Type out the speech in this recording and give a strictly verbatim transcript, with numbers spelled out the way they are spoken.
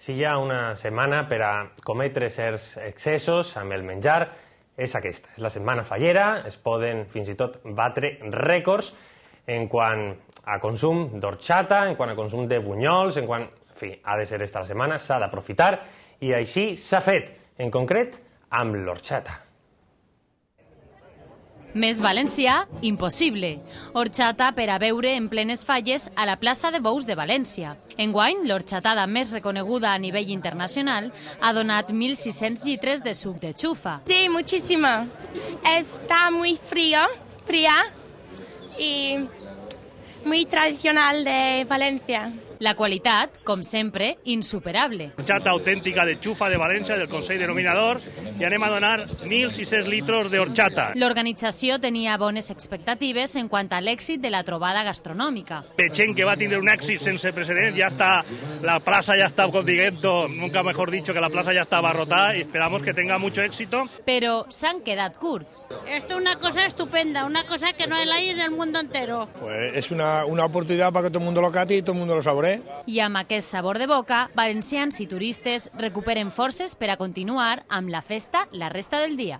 Si hi ha una setmana per a cometre certs excessos amb el menjar, és aquesta. És la setmana fallera, es poden fins i tot batre rècords en quant a consum d'orxata, en quant a consum de bunyols, en quant... En fi, ha de ser esta la setmana, s'ha d'aprofitar, i així s'ha fet, en concret, amb l'orxata. Més valencià, impossible. Orxata per a beure en plenes falles a la plaça de Bous de València. Enguany, l'orxatada més reconeguda a nivell internacional ha donat mil sis-cents litres de suc de xufa. Sí, muchísima. Está muy frío, fría y muy tradicional de Valencia. La qualitat, com sempre, insuperable. Orxata autèntica de xufa de València, del Consell Denominador, i anem a donar mil sis-cents litres d'orxata. L'organització tenia bones expectatives en quant a l'èxit de la trobada gastronòmica. Veient que va tindre un èxit sense precedents, ja està, la plaça ja està, com diguem, nunca mejor dicho, que la plaça ja està abarrotada y esperamos que tenga mucho éxito. Però s'han quedat curts. Esto es una cosa estupenda, una cosa que no hay en el mundo entero. Pues es una, una oportunidad para que todo el mundo lo cate y todo el mundo lo saboree. I amb aquest sabor de boca, valencians i turistes recuperen forces per a continuar amb la festa la resta del dia.